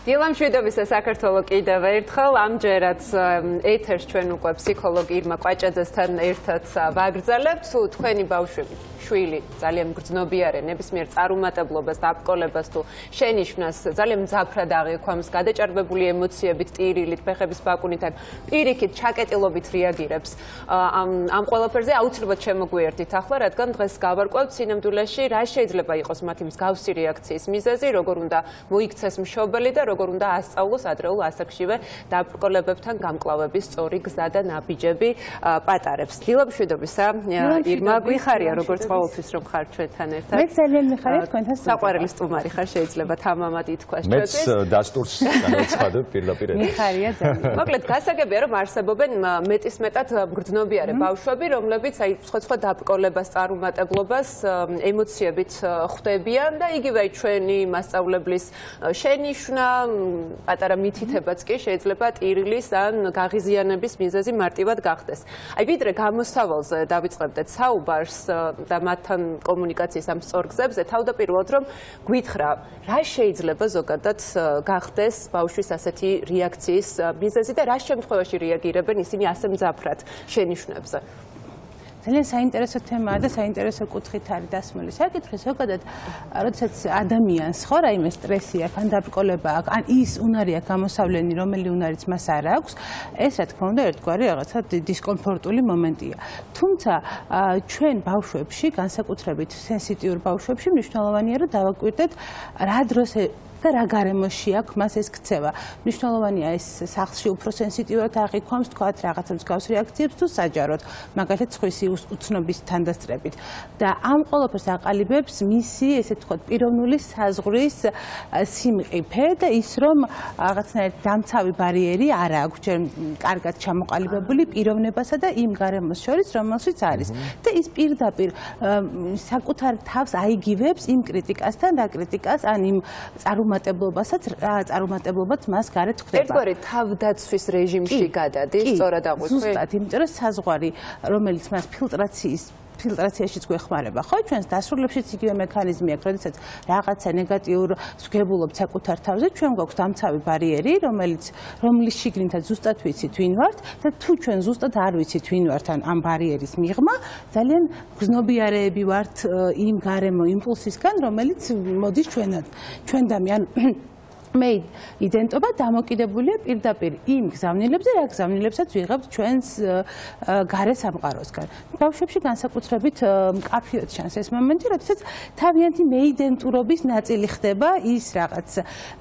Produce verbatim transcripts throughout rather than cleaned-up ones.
დილა მშვიდობისა საქართველო კიდევ ერთხელ ამჯერად ეთერს ჩვენ უკვე ფსიქოლოგი ირმა კვაჭაძესთან ერთად ვაგრძელებთ თქვენი ბავშვები შვილი ძალიან მგრძნობიარე ნებისმიერ წარუმატებლობას დაბრკოლებას თუ შენიშვნას ძალიან მძაფრად აღიქვამს გადაჭარბებული ემოციებით ტირილით ფეხების ბაკუნითან პირიქით ჩაკეტილობით რეაგირებს ამ ამ ყველაფერზე აუცილებლად შემოგვიერთით ახლა რადგან დღეს გავარკვევთ სინამდვილეში რა შეიძლება იყოს მათი მსგავსი რეაქციის მიზეზი როგორ უნდა მოიქცეს მშობელი და როგორ უნდა ასწავლოს ადრეულ ასაკშივე დაბრკოლებებთან გამკლავების სწორი გზა და ნაბიჯები პატარებს. დილა მშვიდობისა ირმა გვიხარია როგორც ყოველთვის რომ ხარ ჩვენთან ერთად. მე ძალიან მიხარია თქვენთან. საყვარელი სტუმარი ხარ შეიძლება თამამად ითქვას ჩვენთვის. მეც დასტურს განაცხადებ პირდაპირ. მიხარია ძალიან. მოკლედ გასაგებია რომ არსებობენ მეტისმეტად მგრძნობიარე ბავშვები რომლებიც აი სხვა სხვა დაბრკოლებას წარუმატებლობას ემოციებით ხვდებიან და იგივე ჩვენი მასწავლებლის შენიშვნა პატარა მითითებაც კი შეიძლება ტირილის ან გაღიზიანების მიზეზი მარტივად გახდეს. აი ვიდრე გამოსავალზე დავიწყებდეთ საუბარს და მათთან კომუნიკაციის ამ სწორ გზებზე თავდაპირველად რომ გვითხრა რა შეიძლება ზოგადად გახდეს ბავშვის ასეთი რეაქციის მიზეზი და რა შემთხვევაში რეაგირებენ ისინი ასე მძაფრად შენიშვნებზე. ძალიან საინტერესო თემაა და საინტერესო კუთხით არის დასმული საკითხი. ზოგადად, როდესაც ადამიანს ხო რაიმე სტრესი აქვს, ან დაბრკოლება აქვს, ან ის უნარი აქვს გამოსავლენი, რომელი უნარიც მას არ აქვს, ეს რა თქმა უნდა ერთგვარი რაღაცა დისკომფორტული მომენტია. თუმცა ჩვენ ბავშვებში, განსაკუთრებით სენსიტიურ ბავშვებში, მნიშვნელოვანია რომ დავაკვირდეთ რა დროს და რა გარემოში აქვს მას ეს ქცევა. მნიშვნელოვანია ეს სახლში უფრო სენსიტიურად აღიქვამს თქვათ რაღაცა მსგავს რეაქციებს თუ საჯაროდ, მაგალითად სხვისი უცნობის თანდასწრებით. და ამ ყველაფერს აყალიბებს მისი ესე თქვათ პიროვნული საზღვრის სიმყიფე და ის რომ რაღაცნაირად დამცავი ბარიერი არ აქვს ჯერ კარგად ჩამოყალიბებული პიროვნებასა და იმ გარემოს შორის რომელშიც არის. და ის პირდაპირ საკუთარ თავს აიგივებს იმ კრიტიკასთან და კრიტიკას ან იმ წარუმატებლობასაც წარუმატებლობაც მას გარეთ ხდება. ერთგვარი თავდაცვის რეჟიმში გადადის, სწორად აღვიქვი? ზუსტად, იმიტომ რომ საზღვარი, რომელიც მას ფილტრაციის ფილტრაციაშიც გვეხმარება, ხო, ჩვენს დასრულებშიც იგივე მექანიზმი აქვს, როდესაც რაღაცა ნეგატიურ სგებულობთ საკუთარ თავზე, ჩვენ გვაქვს დამცავი ბარიერი, რომელიც რომლის შიგნითაც ზუსტად ვიცით ვინ ვართ და თუ ჩვენ ზუსტად არ ვიცით ვინ ვართ ამ ბარიერის მიღმა, ძალიან გრძნობიარეები ვართ იმ გარემო იმპულსისგან, რომელიც მოდის ჩვენად, ჩვენდამი, ან მე იდენტობა დამოკიდებულია პირდაპირ იმ გზავნილებზე, რა გზავნილებსაც ვიღებთ ჩვენს გარე სამყაროსგან. ბავშვებში განსაკუთრებით მკაფიოდ ჩანს ეს მომენტი, როდესაც თავიანთი მეიდენტურობის ნაწილი ხდება ის რაღაც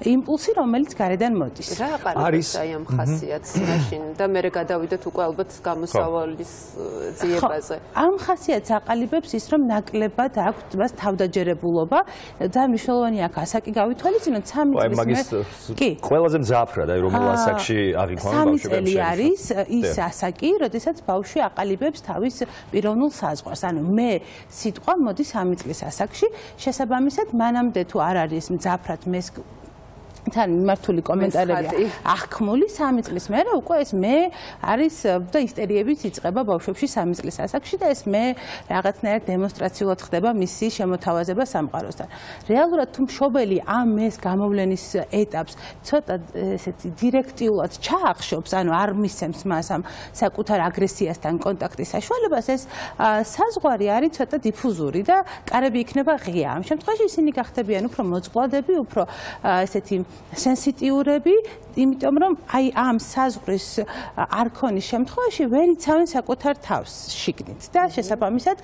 იმპულსი, რომელიც გარედან მოდის. რა აყალიბებს აი ამ ხასიათს მაშინ და მე გადავიდეთ უკვე ალბათ გამოსავალის ძიებაზე. ამ ხასიათს აყალიბებს ის, რომ ნაკლებად აქვს მას თავდაჯერებულობა და მნიშვნელოვანია აქ ასაკი გავითვალისწინოთ სამი წლის ყველაზე მძაფრად აი რომელ ასაკში აღიქვამენ ბავშვებს. სამი წელი არის ის ასაკი, როდესაც ბავშვი აყალიბებს თავის პიროვნულ საზღვარს. ანუ მე სიტყვა მოდი სამი წლის ასაკში, შესაბამისად მანამდე თუ არ არის მძაფრად მეს თან მიმართული კომენტარები აღქმული სამი წლის მერე უკვე ეს მე არის და ისტერიებიც იწყება ბავშვებში სამი წლის ასაკში და ეს მე რაღაცნაირად დემონსტრაციულად ხდება მისი შემოთავაზება სამყაროსთან. რეალურად თუ მშობელი ამ მეს გამოვლენის ეტაპს ცოტა ესეთი დირექტიულად ჩაახშობს, ანუ არ მისცემს მას ამ საკუთარ აგრესიასთან კონტაქტის საშუალებას, ეს საზღვარი არის ცოტა დიფუზური და კარები იქნება ღია. ამ შემთხვევაში ისინი გახდებიან უფრო მოწყვლადები, უფრო ესეთი სენსიტიურები, იმიტომ რომ აი ამ საზღვრის არქონის შემთხვევაში ვერ იცავენ საკუთარ თავს შიგნით და შესაბამისად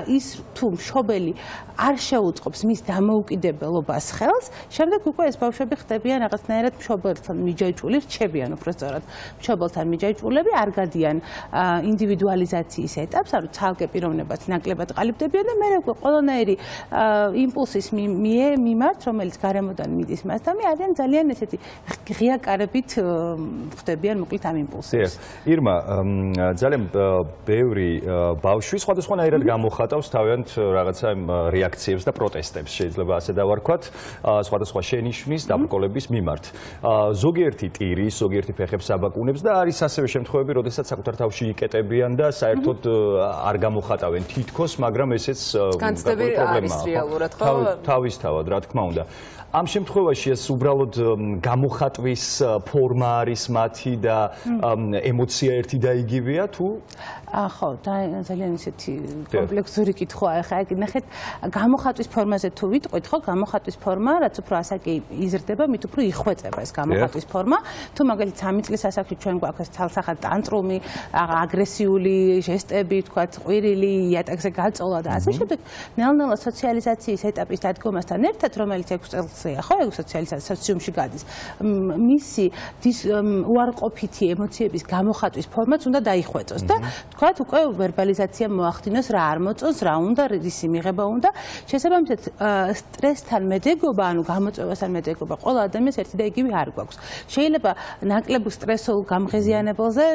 ის თუ მშობელი არ შეუწყობს მის დამოუკიდებლობას ხელს, შემდეგ უკვე ეს ბავშვები ხდებიან რაღაცნაირად მშობელთან მიჯაჭვული, რჩებიან უფრო სწორად მშობელთან მიჯაჭვულები, არ გადიან ინდივიდუალიზაციის ეტაპს, ანუ ცალკე პიროვნებას ნაკლებად ყალიბდებიან და მერე უკვე ყველანაირი იმპულსის მიმართ, რომელიც გარემოდან მიდის მასთან, არიან ძალიან ესეთი ღია კარებით ხდებიან მოკლედ ამ იმპულსებს. ირმა, ძალიან ბევრი ბავშვი სხვადასხვანაირად გამოხატავს თავიანთ რაღაცა რეაქციებს და პროტესტებს, შეიძლება ასე დავარქვათ, სხვადასხვა შენიშვნის, დაბრკოლების მიმართ. ზოგიერთი ტირის, ზოგიერთი ფეხებს აბაკუნებს და არის ასევე შემთხვევები, როდესაც საკუთარ თავში იკეტებიან და საერთოდ არ გამოხატავენ თითქოს, მაგრამ ესეც განცდები არის რეალურად, ხო? თავისთავად, რა თქმა უნდა. ამ შემთხვევაში ეს უბრალოდ უბრალოდ გამოხატვის ფორმა არის მათი და ემოცია ერთი და იგივეა თუ ხო, ძალიან ისეთი კომპლექსური კითხვაა. ხა ნახეთ, გამოხატვის ფორმაზე თუ ვიტყვით, ხო, გამოხატვის ფორმა, რაც უფრო ასაკი იზრდება, მით უფრო იხვეწება ეს გამოხატვის ფორმა. თუ მაგალითად სამი წლის ასაკში ჩვენ გვაქვს თალსახად ტანტრუმი, აგრესიული ჟესტები, თქვათ, ყვირილი, იატაკზე გაწოლა და ასე შემდეგ, ნელ-ნელა სოციალიზაციის ეტაპის დადგომასთან ერთად, რომელიც ექვსი წელია, ხო, სოციალიზაცია სოციუმში გადის, მისი უარყოფითი ემოციების გამოხატვის ფორმაც უნდა დაიხვეწოს და თქვათ, უკვე ვერბალიზაცია მოახდინოს, რა არ მოწონს, რა უნდა, ისი მიღება უნდა. შესაბამისად, სტრესთან მედეგობა, ანუ გამოწვევასთან მედეგობა ყველა ადამიანს ერთი და იგივე არ გვაქვს. შეიძლება ნაკლებ სტრესულ გამღეზიანებელზე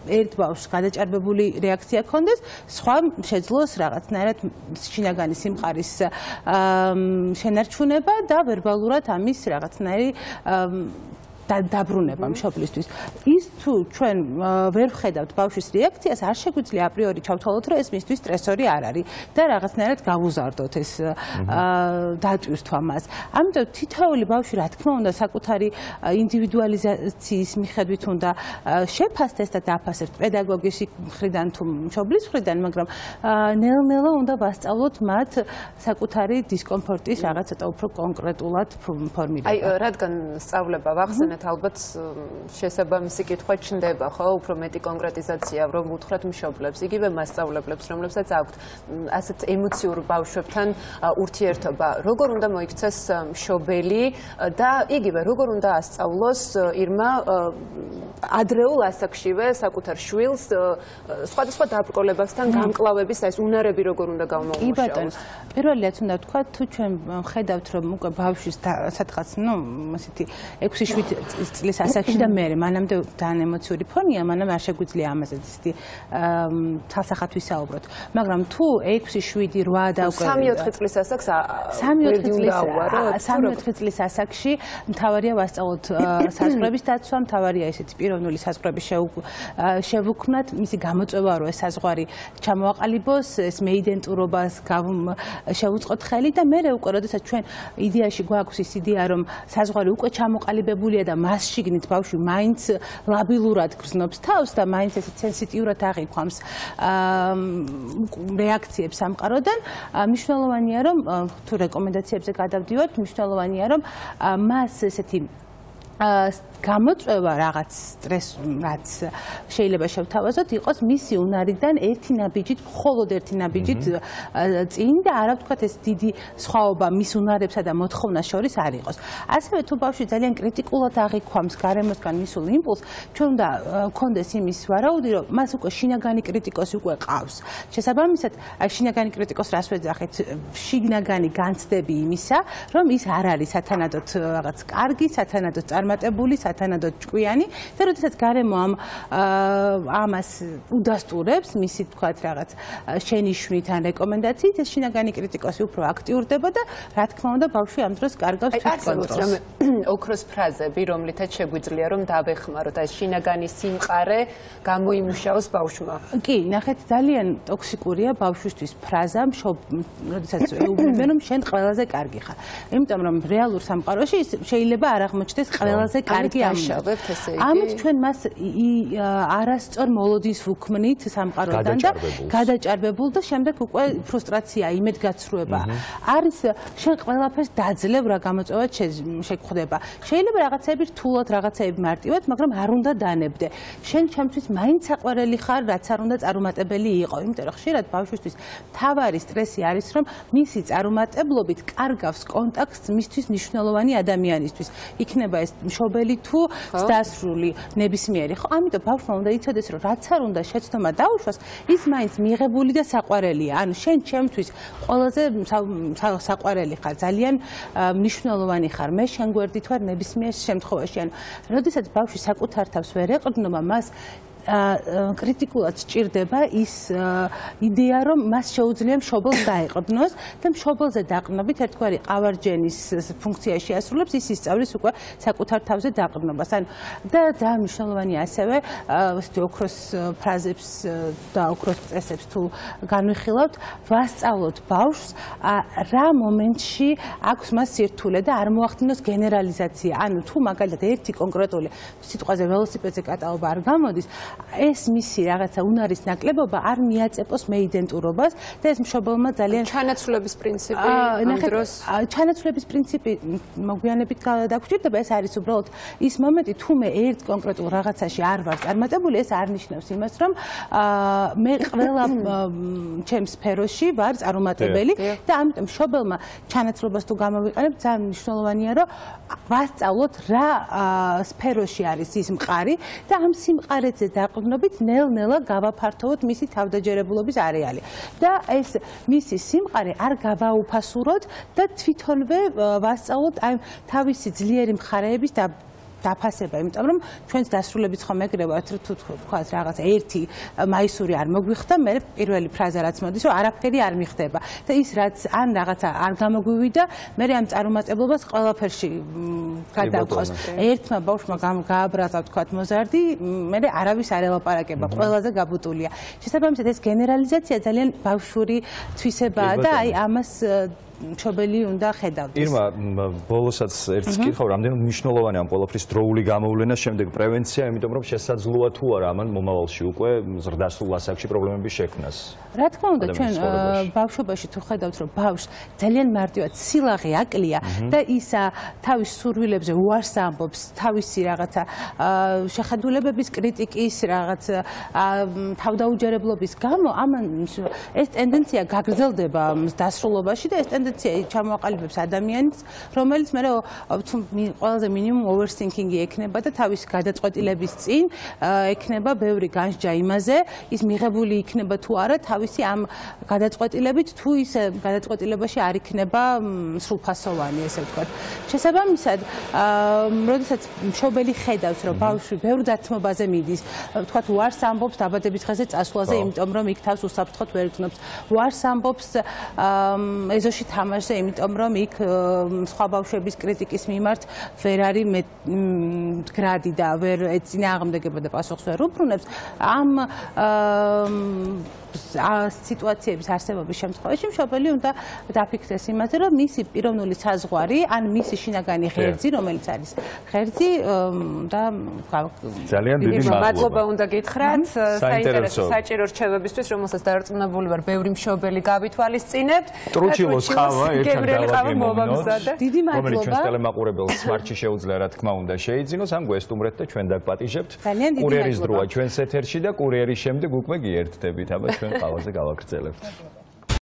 ერთ ბავშვს გადაჭარბებული რეაქცია ქონდეს, სხვა შეძლოს რაღაცნაირად შინაგანი სიმყარის შენარჩუნება და ვერბალურად ამის რაღაცნაირი დაბრუნება მშობლისთვის. ის თუ ჩვენ ვერ ვხედავთ ბავშვის რეაქციას, არ შეგვიძლია აპრიორი ჩავთვალოთ, რომ ეს მისთვის სტრესორი არ არის და რაღაცნაირად გავუზარდოთ ეს დატვირთვა მას. ამიტომ თითოეული ბავშვი, რა თქმა უნდა, საკუთარი ინდივიდუალიზაციის მიხედვით უნდა შეფასდეს და დაფასდეს პედაგოგის მხრიდან თუ მშობლის მხრიდან, მაგრამ ნელ-ნელა უნდა ვასწავლოთ მათ საკუთარი დისკომფორტის რაღაც ცოტა უფრო კონკრეტულად ფორმირება. აი, რადგან სწავლება ვახსენეთ, ალბათ შესაბამისი კითხვა ჩნდება, ხო, უფრო მეტი კონკრეტიზაცია, რომ უთხრათ მშობლებს, იგივე მასწავლებლებს, რომლებსაც აქვთ ასეთ ემოციურ ბავშვებთან ურთიერთობა. როგორ უნდა მოიქცეს მშობელი და იგივე როგორ უნდა ასწავლოს ირმა ადრეულ ასაკშივე საკუთარ შვილს სხვადასხვა დაბრკოლებასთან გამკლავების ეს უნარები როგორ უნდა გამოუშვას. კი ბატონო, პირველი რაც უნდა ვთქვა, თუ ჩვენ ხედავთ, რომ უკვე ბავშვის სადღაც, ნუ, ასეთი ექვსი შვიდი წლის ასაკში და მე მანამდე ძალიან ემოციური ფონია, მანამ არ შეგვიძლია ამაზე ისეთი თალსახად ვისაუბროთ. მაგრამ თუ ექვსი, შვიდი, რვა და უკვე სამი-ოთხი წლის ასაკს სამი-ოთხი წლის სამი-ოთხი წლის ასაკში მთავარია ვასწავლოთ საზღვრების დაცვა, მთავარია ესეთი პიროვნული საზღვრების შევუქმნათ, მისი გამოწვევა რომ ეს საზღვარი ჩამოაყალიბოს, ეს მეიდენტურობას შევუწყოთ ხელი და მე უკვე როდესაც ჩვენ იდეაში გვაქვს ის იდეა რომ საზღვარი უკვე ჩამოყალიბებულია და მას შიგნით ბავშვი მაინც ლაბილურად გრძნობს თავს და მაინც ესე სენსიტიურად აღიქვამს რეაქციებს სამყაროდან, მნიშვნელოვანია რომ თუ რეკომენდაციებზე გადავდივართ, მნიშვნელოვანია რომ მას ესეთი გამოწვევა რაღაც სტრეს რაც შეიძლება შევთავაზოთ იყოს მისი უნარიდან ერთი ნაბიჯით, მხოლოდ ერთი ნაბიჯით წინ და არა ვთქვათ ეს დიდი სხვაობა მის უნარებსა და მოთხოვნას შორის არ იყოს. ასევე თუ ბავშვი ძალიან კრიტიკულად აღიქვამს გარემოსგან მისულ იმპულსს, ჩვენ უნდა გქონდეს იმის ვარაუდი, რომ მას უკვე შინაგანი კრიტიკოსი უკვე ყავს. შესაბამისად, შინაგანი კრიტიკოს რას ვეძახით? შიგნაგანი განცდები იმისა, რომ ის არ არის სათანადოდ რაღაც კარგი, სათანადოდ წარმატებული, სათანადოდ ჭკვიანი და როდესაც გარემო ამ ამას უდასტურებს, მისი თქვათ რაღაც შენიშვნით ან რეკომენდაციით, ეს შინაგანი კრიტიკოსი უფრო აქტიურდება და რა თქმა უნდა ბავშვი ამ დროს კარგავს თვითკონტროლს. ოქროს ფრაზები, რომლითაც შეგვიძლია რომ დავეხმაროთ, აი შინაგანი სიმყარე გამოიმუშაოს ბავშვმა. კი, ნახეთ, ძალიან ტოქსიკურია ბავშვისთვის ფრაზა, როდესაც ეუბნებიან რომ შენ ყველაზე კარგი ხარ. იმიტომ რომ რეალურ სამყაროში შეიძლება არ აღმოჩნდეს ყველაზე კარგი ამშავებთ ესე იგი. ამით ჩვენ მას არასწორ მოლოდინს ვუქმნით სამყაროდან და გადაჭარბებულ და შემდეგ უკვე ფრუსტრაცია, იმედგაცრუება. არის შენ ყველაფერს დაძლევ რა გამოწვევად შეგხვდება. შეიძლება რაღაცები რთულად, რაღაცები მარტივად, მაგრამ არ უნდა დანებდე. შენ ჩემთვის მაინც საყვარელი ხარ, რაც არ უნდა წარუმატებელი იყო. იმიტომ რომ ხშირად ბავშვისთვის თავარი სტრესი არის, რომ მისი წარუმატებლობით კარგავს კონტაქტს მისთვის მნიშვნელოვანი ადამიანისთვის. იქნება ეს მშობელი თუ დასრული ნებისმიერი. ხო, ამიტომ ბავშვმა უნდა იცოდეს, რომ რაც არ უნდა შეცდომა დაუშვას, ის მაინც მიღებული და საყვარელია. ანუ შენ ჩემთვის ყველაზე საყვარელი ხარ, ძალიან მნიშვნელოვანი ხარ. მე შენ გვერდით ვარ ნებისმიერ შემთხვევაში. ანუ, როდესაც ბავშვი საკუთარ თავს ვერ ეყრდნობა, მას კრიტიკულად სჭირდება ის იდეა, რომ მას შეუძლია მშობელს დაეყრდნოს და მშობელზე დაყრდნობით ერთგვარი ყავარჯენის ფუნქცია შეასრულებს, ის ისწავლის უკვე საკუთარ თავზე დაყრდნობას. ანუ და ძალიან მნიშვნელოვანია ასევე ესეთი ოქროს ფრაზებს და ოქროს წესებს თუ განვიხილავთ, ვასწავლოთ ბავშვს რა მომენტში აქვს მას სირთულე და არ მოახდინოს გენერალიზაცია. ანუ თუ მაგალითად ერთი კონკრეტული სიტყვაზე ველოსიპედზე კატაობა არ გამოდის, ეს მისი რაღაცა უნარის ნაკლებობა არ მიაწეპოს მე იდენტურობას და ეს მშობელმა ძალიან ჩანაცვლების პრინციპი ამ დროს ჩანაცვლების პრინციპი მოგვიანებით დაგვრჩება. ეს არის უბრალოდ ის მომენტი, თუ მე ერთ კონკრეტულ რაღაცაში არ ვარ წარმატებული, ეს არ ნიშნავს იმას, რომ მე ყველა ჩემს სფეროში ვარ წარუმატებელი და ამიტომ მშობელმა ჩანაცვლებას თუ გამოვიყენებ, ძალიან მნიშვნელოვანია, რომ ვასწავლოთ რა სფეროში არის ის მყარი და ამ სიმყარეზე დაყრდნობით ნელ-ნელა გავაფართოვოთ მისი თავდაჯერებულობის არეალი. და ეს მისი სიმყარე არ გავაუფასუროთ და თვითონვე ვასწავლოთ აი თავისი ძლიერი მხარეების და დაფასება, იმიტომ რომ ჩვენს დასრულებით ხომ ეგრევათ, თუ თქვა რაღაც ერთი მაისური არ მოგვიხდა, მე პირველი ფრაზა რაც მოდის, რომ არაფერი არ მიხდება და ის რაც ან რაღაცა არ გამოგვივიდა, მე ამ წარუმატებლობას ყველაფერში გადავყავს. ერთმა ბავშვმა გააბრაზა თქვა მოზარდი, მე არავის არ ელაპარაკება, ყველაზე გაბუტულია. შესაბამისად ეს გენერალიზაცია ძალიან ბავშვური თვისებაა და აი ამას მშობელი უნდა ხედავდეს. ირმა, ბოლოსაც ერთს კითხავ, რამდენად მნიშვნელოვანია ამ ყველაფრის დროული გამოვლენა, შემდეგ პრევენცია, იმიტომ რომ შესაძლოა თუ არა ამან მომავალში უკვე ზრდასრულ ასაკში პრობლემების შექმნას. რა თქმა უნდა, ჩვენ ბავშვობაში თუ ხედავთ, რომ ბავშვს ძალიან მარტივად სილაღე აკლია და ის თავის სურვილებზე უარს ამბობს, თავისი რაღაცა შეხედულებების კრიტიკის, რაღაც თავდაუჯერებლობის გამო, ამან ეს ტენდენცია გაგრძელდება დასრულობაში და ეს ტენდენცია ჩამოაყალიბებს ადამიანს, რომელიც მე ყველაზე მინიმუმ overthinking-ი ექნება და თავის გადაწყვეტილების წინ ექნება ბევრი განსჯა იმაზე, ის მიღებული იქნება თუ არა თავისი ამ გადაწყვეტილებით, თუ ის გადაწყვეტილებაში არ იქნება სრულფასოვანი, ესე ვთქვათ. შესაბამისად, როდესაც მშობელი ხედავს, რომ ბავშვი ბევრ დათმობაზე მიდის, ვთქვათ, უარს ამბობს დაბადების დღეზე წასვლაზე, იმიტომ რომ იქ თავს უსაფრთხოდ ვერ გრძნობს, უარს ამბობს ეზოში თამაშზე, იმიტომ რომ იქ სხვა ბავშვების კრიტიკის მიმართ ვერ არის მდგრადი და ვერ ეწინააღმდეგება და პასუხს ვერ უბრუნებს. ამ სიტუაციების არსებობის შემთხვევაში მშობელი უნდა დაფიქრდეს იმაზე, რომ მისი პიროვნული საზღვარი, ან მისი შინაგანი ღერძი, რომელიც არის ღერძი და ძალიან დიდი მადლობა უნდა გითხრათ საინტერესო საჭირო რჩევებისთვის, რომელსაც დარწმუნებული ვარ, ბევრი მშობელი გავითვალისწინებთ. ტრუჩილოს ყავა ერთად დავაგემოვნოთ. დიდი მადლობა. რომელიც ჩვენს ტელემაყურებელს სმარტში შეუძლია რა თქმა უნდა შეიძინოს, ამ გვესტუმრეთ და ჩვენ დაგპატიჟებთ. კურიერის დროა ჩვენს ეთერში და კურიერის შემდეგ უკვე გიერთდებით, აბა ჩვენ ყავაზე გავაგრძელებთ.